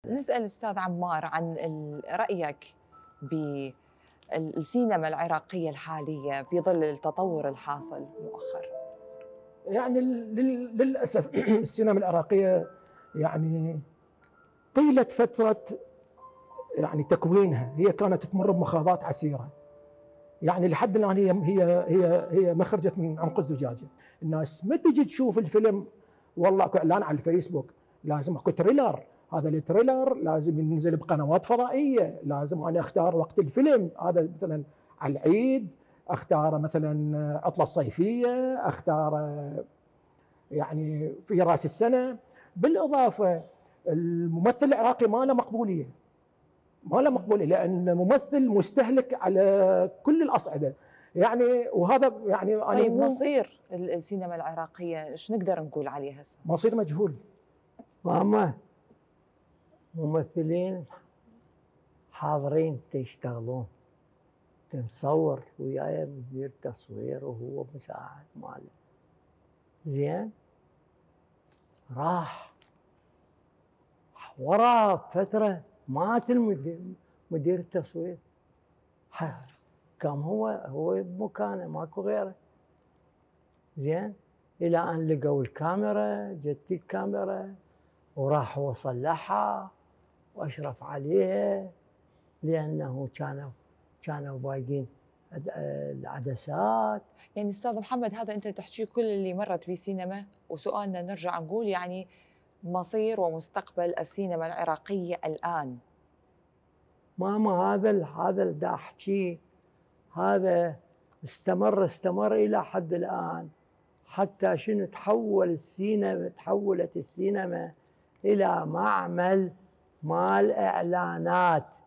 نسأل أستاذ عمار عن رأيك بالسينما العراقية الحالية في ظل التطور الحاصل مؤخرا. يعني للأسف السينما العراقية يعني طيلة فترة يعني تكوينها هي كانت تمر بمخاضات عسيرة. يعني لحد الآن هي ما خرجت من عنق الزجاجة. الناس ما تجي تشوف الفيلم والله اكو اعلان على الفيسبوك، لازم اكو تريلر، هذا التريلر لازم ينزل بقنوات فضائية، لازم انا اختار وقت الفيلم، هذا مثلا على العيد، اختار مثلا عطلة الصيفية، اختار يعني في راس السنة. بالإضافة الممثل العراقي ما له مقبولية، لأن ممثل مستهلك على كل الأصعدة. يعني وهذا يعني أنا طيب مصير السينما العراقية ايش نقدر نقول عليه هسه؟ مصير مجهول. ماما ممثلين حاضرين يشتغلون، مصور وياي مدير تصوير وهو مساعد ماله، زين راح ورا فترة مات مدير التصوير، قام هو بمكانه ماكو غيره. زين الى ان لقوا الكاميرا، جت الكاميرا وراح هو صلحها واشرف عليها، لانه كانوا بايقين العدسات. يعني استاذ محمد هذا انت تحكي كل اللي مرت بسينما، وسؤالنا نرجع نقول يعني مصير ومستقبل السينما العراقية الآن. ماما هذا اللي دا احكيه هذا استمر الى حد الان، حتى شنو تحولت السينما الى معمل مال اعلانات.